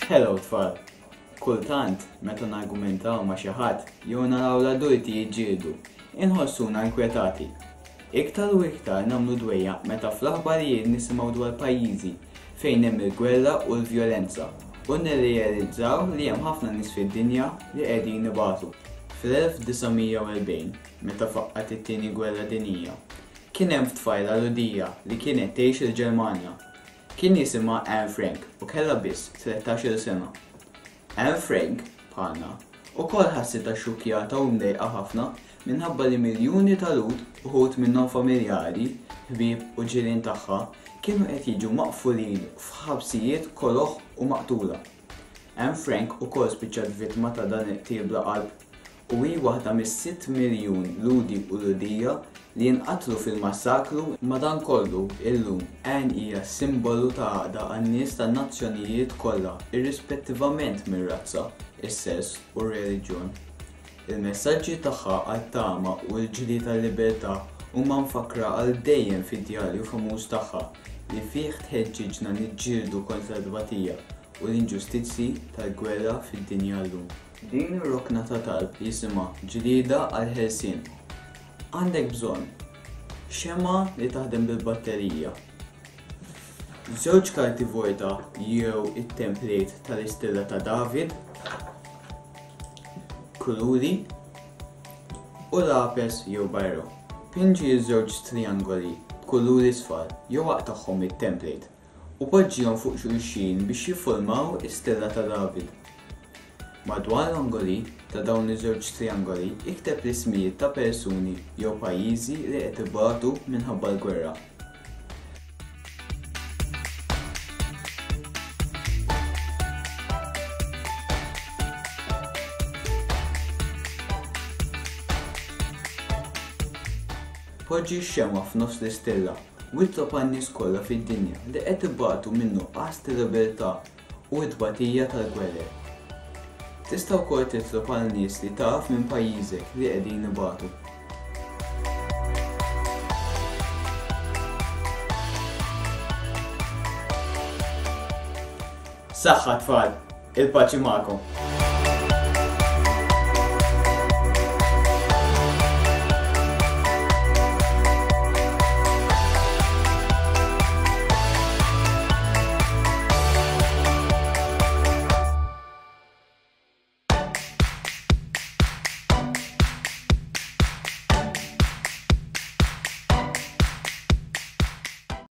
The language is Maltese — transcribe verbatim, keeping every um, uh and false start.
Hello tfal! Kultant, meta nargumentaw ma' xi ħadd jew naraw l-adulti jiġġieldu, inħossuna inkwetati. Iktar u iktar nagħmlu dwejjaq meta fl-aħbarijiet nisimgħu dwar pajjiżi fejn hemm il-gwerra u l-vjolenza u nirrealizzaw li hemm ħafna nies fid-dinja li qegħdin ibatu. Fl-elf disa' mija u erbgħin, meta faqqgħet it-Tieni Gwerra Dinjija, kien hemm tfajla Lhudija li kienet tgħix il-Ġermanja. Kien jisimha Anne Frank u kellha biss tlettax-il sena. Anne Frank, bħalna, ukoll ħassitha xxukkjata u mdejqa ħafna minħabba li miljuni ta' Lhud, uħud minnhom familjari, ħbieb u ġirien tagħha, kienu qed jiġu maqfulin f'ħabsijiet koloħ u maqtula. Anne Frank ukoll spiċċat vittma ta' dan il-qtil bla qalb u hi waħda mis-sitt miljun Lhudi u Lhudija li jinqatlu fil-massakru. Madankollu, illum, Anne hija simbolu ta' għaqda għan-nies tan-nazzjonijiet kollha irrispettivament mir-razza, is-sess u r-reliġjon. Il-messaġġi tagħha għat-tama u l-ġlied tal-libertà huma mfakkra għal dejjem fid-djarju famuż tagħha li fih tħeġġiġna niġġieldu kontra t-tbatija u l-inġustizzi tal-gwerra fid-dinja llum. Din ir-rokna ta' talb jisimha Ġlieda għall-Ħelsien. Għandek bżonn xemgħa li taħdem bil-batterija, żewġ karti vojta jew it-template tal-istilla ta' David, kuluri u lapes jew bajro. Pinġi ż-żewġ triangoli b'kuluri sfar jew aqtagħhom it-template u poġġihom fuq xulxin biex jiffurmaw istilla ta' David. Madwar l-angoli ta' dawn iż-żewġ triangoli ikteb l-ismijiet ta' persuni jew pajjiżi li qed ibatu minħabba l-gwerra. Poġġi x-xemgħa f'nofs l-istilla u itlob għan-nies kollha fid-dinja li qed ibatu minn nuqqas ta' libertà u t-tbatija tal-gwerer. Tista' wkoll titlob għal nies li taf minn pajjiżek li qegħdin ibatu. Saħħa tfal, il-paċi magħkom.